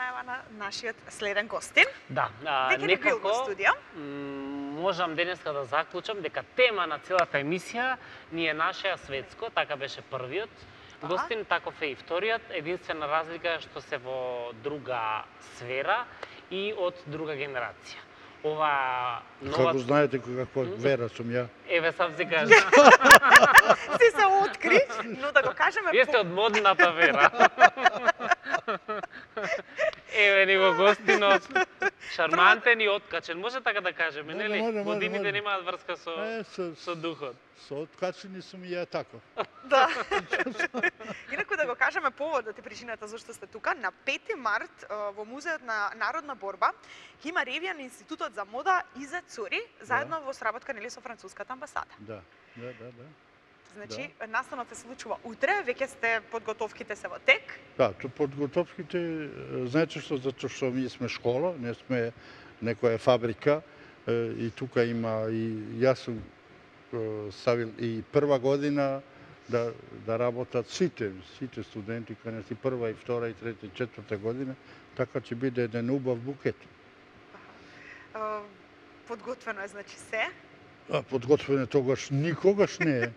најава на нашиот следен гостин. Да, Дека не бил во студио. Можам денеска да заклучам дека тема на целата емисија ни е нашиот светско, така беше првиот гостин, таков е и вториот. Единствена разлика е што се во друга сфера и од друга генерација. Ова нова... Како знаете каква вера сум ја? Еве сам си кажа. Си се откри, но да го кажеме... Вие сте од модната вера. Еве ни го гостинот, шармантен и откачен, може така да кажеме, нели? Годините немаат врска со духот. Со откачени сум и ја таков. Да. Инаку да го кажеме поводот и причината зашто сте тука, на 5 март во Музеот на народна борба има ревија на Институтот за мода и за цури, заедно во сработка нели со француската амбасада. Да. Значи, настанот се случува утре, веќе сте подготовките се во тек. Да, подготовките, знаете што, затоа што ние сме школа, не сме некоја фабрика, и тука има, и јас сум ставил и прва година да работат сите студенти, кај нас и прва, и втора, и трета, и четврта година, така ќе биде еден убав букет. Подготвено е, значи, се? Подготвено тогаш никогаш не е.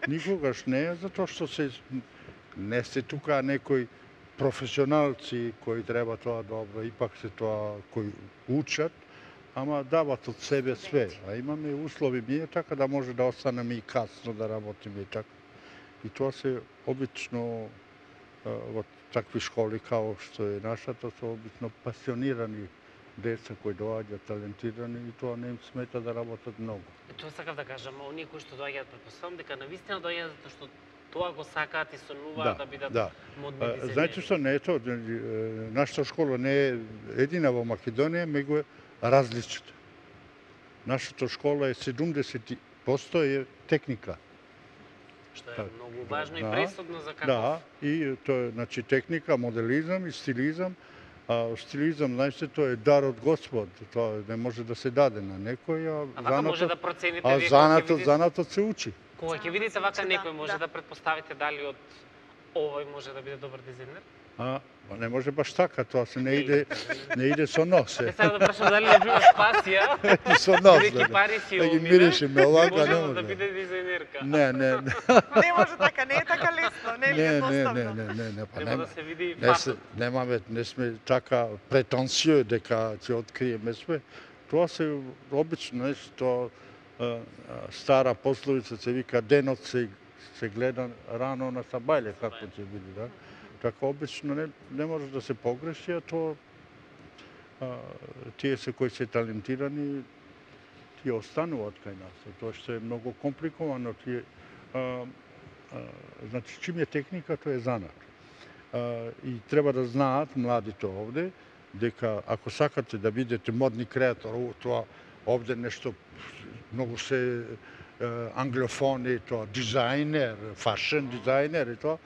Никогаш не е, затоа што не сте тука некои професионалци кои треба тоа добро, ипак се тоа кои учат, ама дават од себе све. А имаме услови ние така да може да останеме и касно да работиме и така. И тоа се обично во такви школи као што е нашата, се обично пасионирани деца кои доаѓаат талентирани и тоа не им смета да работат многу. Тоа сакав да кажам, оние кои што доаѓаат, претпоставам дека навистина доаѓаат затоа што тоа го сакаат и сонуваат да бидат модни дизајнери. Знаете што, не е тоа, нашата школа не е едина во Македонија, меѓу е различита. Нашата школа е 70% е техника. Што е многу важно и пресудно за каков... Да, и тоа е, значи, техника, моделизам и стилизам. А стилизам, знаете, тоа е дар од Господ, тоа не може да се даде на некој, вака може да процените вие занатот се учи. Кога ќе видите вака некој, може да претпоставите дали од овој може да биде добар дизајнер? Не може баш така, тоа се не иде со нос. Не сега да прашам дали не бива спасија, со нос, бидејќи пари си да ги миришеме овака, може да биде дизајнерка. Не. Не може така, не е така лесно, не е едноставно. Не, треба да се види и фактот. Не сме така претенциозни дека ќе откриеме све. Тоа се обично нешто, стара пословица се вика денот се гледа рано на сабајле, како ќе биде, да? Така обично не може да се погреши, а тоа тие се кои се талентирани, тие остануваат кај нас. Тоа што е многу компликовано, значи чим е техника, тоа е занат. И треба да знаат младите овде, дека ако сакате да бидете модни креатор, тоа овде нешто многу се англофони, тоа дизајнер, фашен дизајнер и тоа,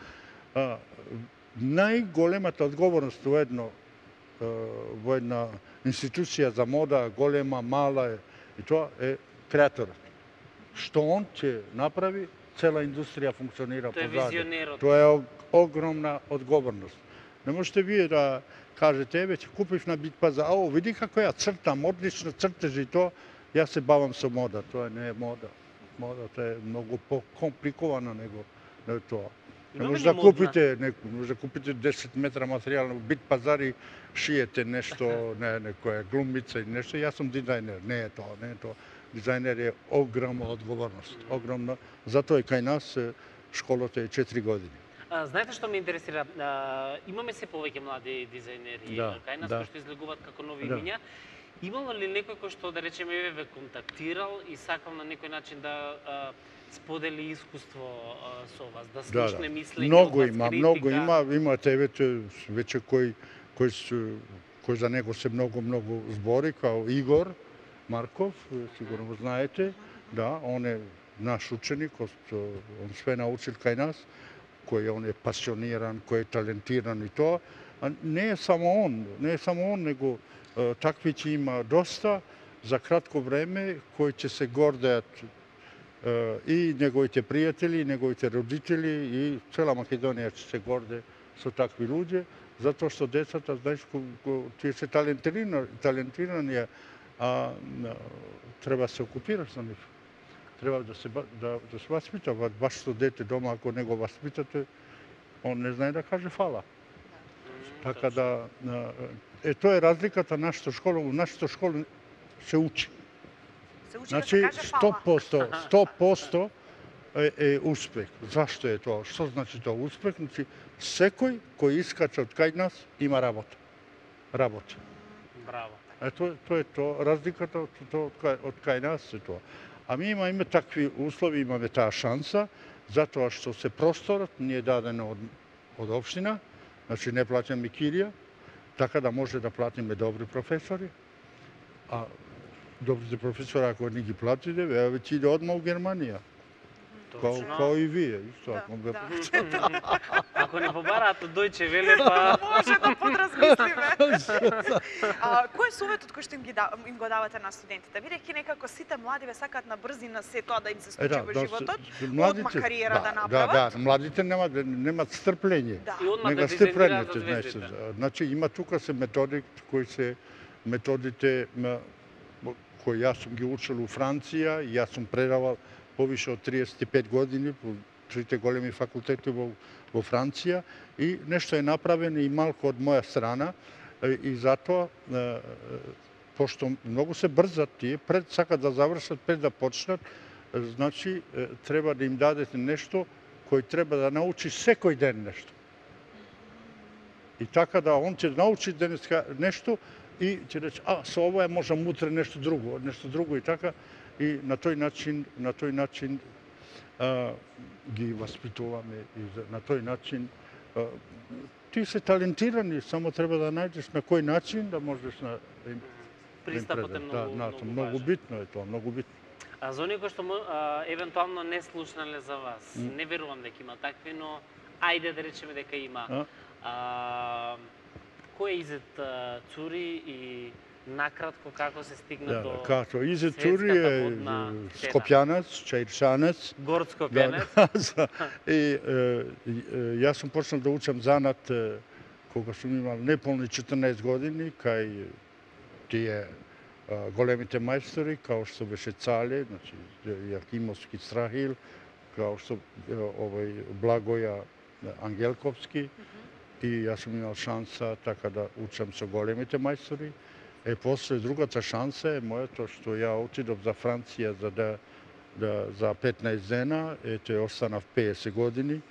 најголемата одговорност во една институција за мода, голема, мала, и тоа е креаторот. Што он ќе направи, цела индустрија функционира позади. Тоа е визионерот. Тоа е огромна одговорност. Не можете вие да кажете, еве, ќе купив на Битпазар, види како ја цртам, одлично цртежи и тоа, јас се бавам со мода. Тоа не е мода. Модата е многу по-компликована него тоа. Не може да купите 10 метра материјал на Битпазар и шиете нешто, некоја глумица и нешто. Јас сум дизајнер, не е тоа. Дизајнер е огромна одговорност, огромна. Затоа и кај нас школата е 4 години. Знаете што ме интересира? Имаме се повеќе млади дизајнери кај нас кои што излегуваат како нови имиња. Имало ли некој кој што, да речеме, ве контактирал и сакал на некој начин да сподели искуство со вас, да слушне мислење од вас, критика? Многу има веќе кој за него се многу збори, као Игор Марков, сигурно го знаете, да, он е наш ученик, он све научил кај нас, кој он е пасиониран, кој е талентиран и тоа. Не е само он, него такви ќе има доста за кратко време кои ќе се гордеат и неговите пријатели, и неговите родители, и цела Македонија ќе се горде со такви луѓе, затоа што децата, знаеш, тие се талентирани, а треба да се окупираш за нив. Треба да се васпита. Вашето дете дома, ако не го васпитате, он не знае да каже фала. Така да, тоа е разликата на нашата школа. У нашата школа се учи. Се учи Значи, да се каже фала. 100% е успех. Зашто е тоа? Што значи тоа успех? Значи, секој кој искача од кај нас има работа. Работа. Браво. Тоа е тоа, разликата од кај нас е тоа. А ми имаме такви услови, имаме таа шанса, затоа што се просторот ни е даден од општина, значи не плаќаме кирија, така да може да платиме добри професори. А добрите професори, ако не ги платите, веќе иде одма у Германија. Као и вие, исто. Ако не побараат од Дојче Веле, па Може да подразмислиме. Кој е советот кој што им го давате на студентите? Бидејќи некако сите млади ве сакаат на брзина се тоа да им се случи во животот, одма кариера да направат. Да, младите немаат стрпление. и одма да Нега дизајнираат за стрплените, звездите. значи има тука се методи кои се методите кои јас сум ги учил у Франција, и јас сум предавал повише од 35 години по трите големи факултети во Франција, и нешто е направено и малку од моја страна, и затоа пошто многу се брзат тие, сакат да завршат пред да почнат, значи треба да им дадете нешто кој треба да научи секој ден нешто. И така да он ќе научи денеска нешто и ќе рече, со ова можам утре нешто друго и така, и на тој начин ги васпитуваме, и на тој начин ти се талентирани, само треба да најдеш на кој начин да можеш да им Пристапот е многу битно е тоа, многу битно. А за оние кои што евентуално не слушнале за вас, не верувам дека има такви, но ајде да речеме дека има. Кој е Изет Цури и накратко како се стигна до Като Изет Цури е скопјанец, чаирчанец. Горд скопјанец. И јас сум почнал да учам занат кога сум имал неполни 14 години, кај тие големите мајстори, као што беше Цале, значи Јахимовски Страхил, као што Благоја Ангелковски, и јас сум имал шанса така да учам со големите мајстори. После другата шанса е моето што ја отидов за Франција за 15 дена, ете останав 50 години.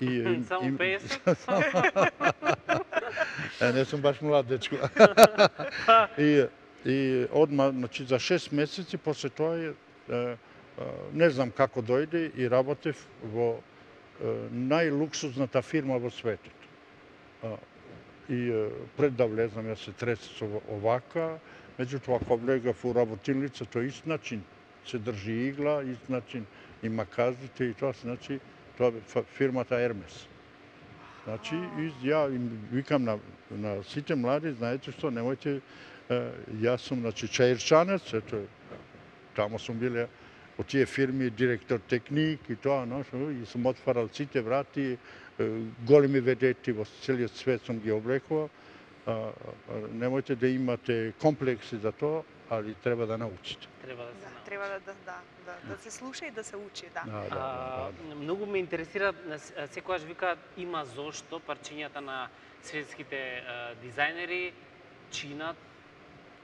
Само 50? Не сум баш млад дечко. И одма, значи за 6 месеци, после тоа не знам како дојде и работев во најлуксузната фирма во светот. И пред да влезам, јас се тресев со овака, меѓутоа кога влегав у работилница, тој ист начин се држи игла, ист начин има казите и тоа, значи, тоа е фирмата Ермес. Значи, ја викам на сите млади, знаете што, немојте, јас сум, значи, чаирчанец, ето, тамо сум биле од тие фирми директор техник и тоа, и сум отварал сите врати, големи ведети во целиот свет сум ги облекувал. Немојте да имате комплекси за тоа, али треба да научите. Треба да се слуша и да се учи, Многу ме интересира, секогаш викаат има зошто парчињата на светските дизајнери чинат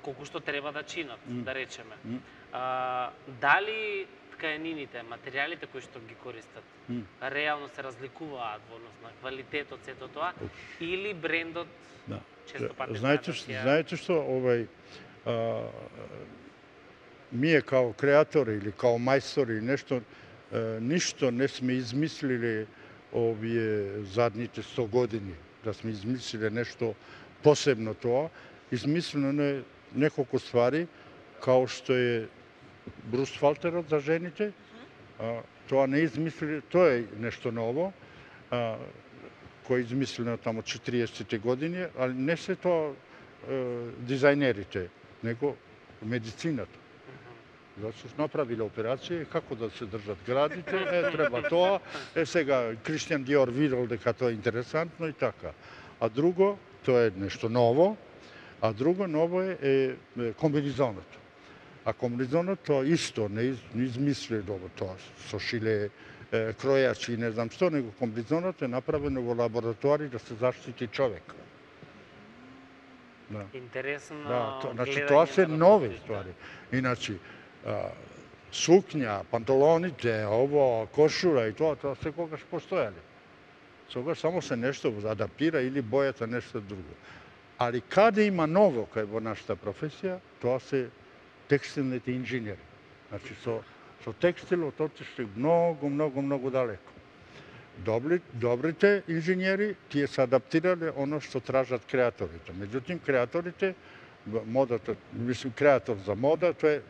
колку што треба да чинат, да речеме. Дали ткаенините, материјалите кои што ги користат, реално се разликуваат во однос на квалитетот, сето тоа, или брендот често пати знаете што, ние као креатори или као мајстори ништо не сме измислили овие задните 100 години, да сме измислили нешто посебно тоа. Измислено е неколку ствари, као што е брусфалтерот за жените. Тоа не измислили, тоа е нешто ново, кој е измислено тамо 40-те години, али не се тоа дизајнерите, него медицината. Зашто направиле операција, како да се држат градите, треба тоа. Сега Кристијан Диор видел дека тоа е интересантно и така. а друго, тоа е нешто ново, а друго ново е комбинизонот. А комбинизонот тоа исто не измисли добро тоа со шиле, кројачи, не знам што, него комбинизонот е направено во лабораторија да се заштити човек. Да. Интересно. Да, значи гледање тоа се на нови работите, ствари. Иначе сукња, панталоните, ово, кошура и тоа секогаш постоеле. Сегаш само се нешто адаптира или бојата нешто друго. Али каде има ново кај во нашата професија, тоа се текстилните инженери. Значи со текстилот отишли многу далеко. Добрите инженери тие се адаптирале оно што тражат креаторите. Меѓутоа креаторите модата, мислим креатор за мода, тоа е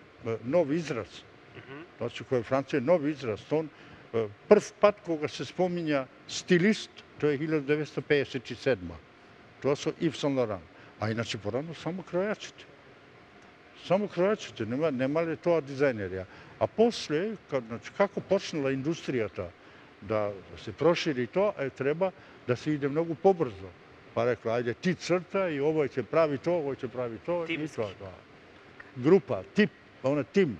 нов израз. Значи кој Франција е нов израз, прв пат кога се спомиња стилист, тоа е 1957. Тоа со Ив Сен Лоран. А иначе порано само кројачите. Само кројачите, немале тоа дизајнери. А после, значи, како почнала индустријата да се прошири тоа, треба да се иде многу побрзо. Па рекла, ајде ти црта и овој ќе прави тоа, овој ќе прави тоа и тоа. Група, тип, тим.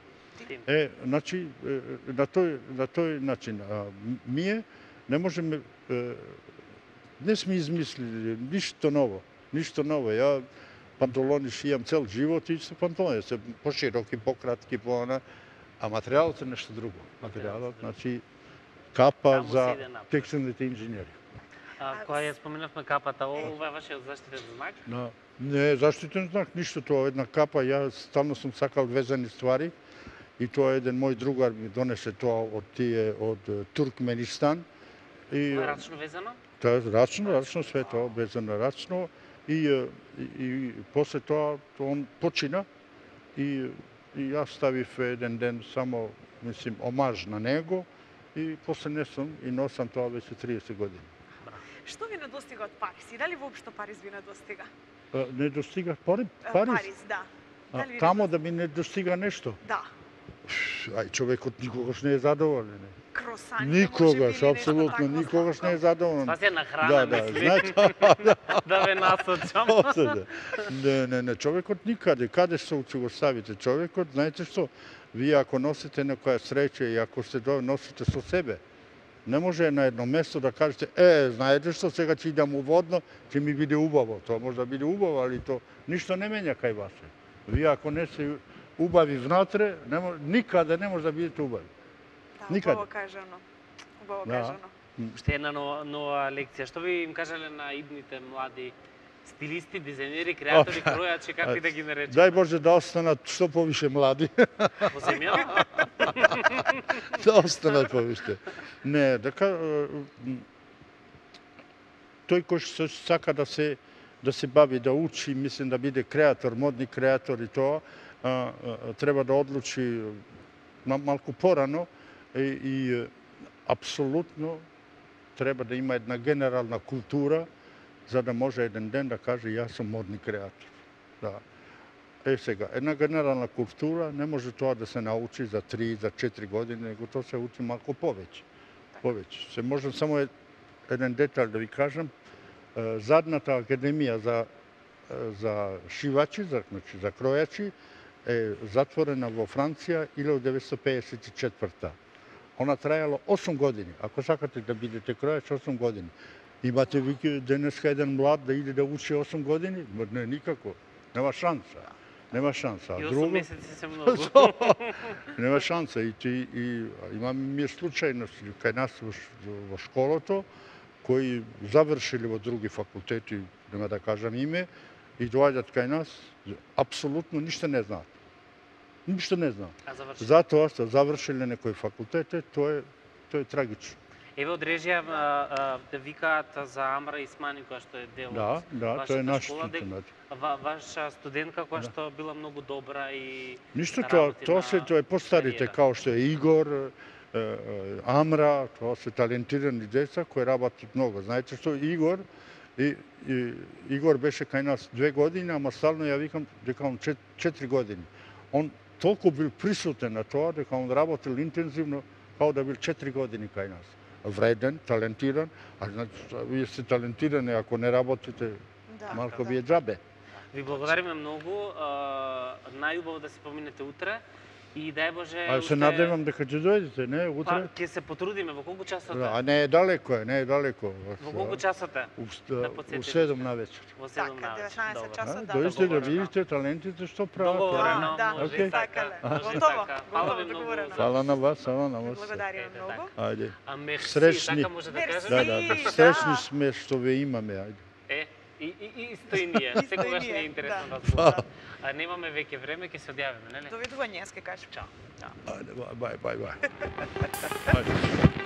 Значи, на тој начин, ние не можеме, не сме измислили ништо ново. Ја панталони шијам цел живот и се панталони, се пошироки, пократки, а материјалот е нешто друго. Материјалот, значи, капа за текстилните инженери. Кога ја споменавме капата, ова е вашиот заштитен знак? Не, заштитен знак, ништо тоа, една капа, ја стално сум сакал везани ствари, и тоа еден мој другар ми донесе тоа од Туркменистан. Тоа е рачно везано? Тоа е рачно, све тоа везано рачно. И после тоа он почина и јас ставив еден ден само, мислим, омаж на него и после несам и носам тоа веќе 30 години. Што ви недостига од Париз? И дали воопшто Париз ви недостига? Не достига Париз? Париз, да. Тамо да ми не достига нешто? Да. Ај, човекот никогаш не е задоволен. Кросаните, никогаш, апсолутно, никогаш не е задоволен. Тоа на храна, знаете, да ве насочам. Не, човекот никаде, каде ќе го ставите човекот, знаете што, вие ако носите некоја среќа и ако се носите со себе, не може на едно место да кажете, знаете што, сега ќе идам уводно, ќе ми биде убаво. Тоа може да биде убаво, али то ништо не менја кај вас. Вие ако не се убави внатре, никаде не може да бидете убави. Да, убаво кажано. Уште една нова лекција. Што би им кажале на идните млади стилисти, дизајнери, креатори, кројачи, како и да ги наречеме? Дај Боже да останат што повише млади. Во земјата? Да останат повише. Не, тој кој што сака да се бави, да учи, мислим да биде креатор, модни креатор и тоа, треба да одлучи малку порано и апсолутно треба да има една генерална култура за да може еден ден да каже јас сум модни креатор. Да. Сега, една генерална култура не може тоа да се научи за 3, за 4 години, него тоа се учи малку повеќе. Се можам само еден детал да ви кажам. Задната академија за шивачи, значи за кројачи, е затворена во Франција 1954. Она трајало 8 години. Ако сакате да бидете кројач, 8 години. Имате ви денеска еден млад да иде да учи 8 години? Не, никако. Нема шанса. Нема шанса. И 8 месеци се многу. Нема шанса. И имаме случајности кај нас во школото, кои завршили во други факултети, нема да кажам име, и доаѓаат кај нас, апсолутно ништо не знаат. Ништо не знаат. Затоа што завршиле некој факултет, тоа е трагично. Еве од режија викаат за Амра Исмани, која што е дел од вашата школа, ваша студентка која што била многу добра и ништо тоа е постарите, као што е Игор, Амра, тоа се талентирани деца кои работат многу. Знаете што Игор беше кај нас 2 години, ама стално ја викам дека он 4 години. Он толку бил присутен на тоа дека он работил интензивно, као да бил 4 години кај нас. вреден, талентиран, а значи вие сте талентирани, ако не работите, Да, малко да. ви е џабе. Ви благодариме многу. Најубаво да се поминете утре и дај Боже А се надевам дека ќе дојдете, не, Па, утре? ќе се потрудиме во колку часот е? А не е далеко е, не е далеко. Во колку часот е? У Да потсетите. 7 на вечер. Во 7 Така, на вечер. 19 Добро. часот, да. Дојдете да Договорено. видите талентите што прават. Договорено, Да, може окей. и така. Сакале. Може и Готово, така. готово, Фала ви многу договорено. за- Фала на вас, фала на вас. Благодариме Ете, многу. Ајде. А мерси, Сречни. така може да Мерси. кажете. Да, сречни сме што ве имаме, ајде. Исто и ние. Исто и Секогаш ние, ни е интересно да. да зборуваме. А немаме веќе време, ќе се одјавиме, нели? Довидување, јас ке кажам. Чао. Ајде, бај, бај, бај. Ајде.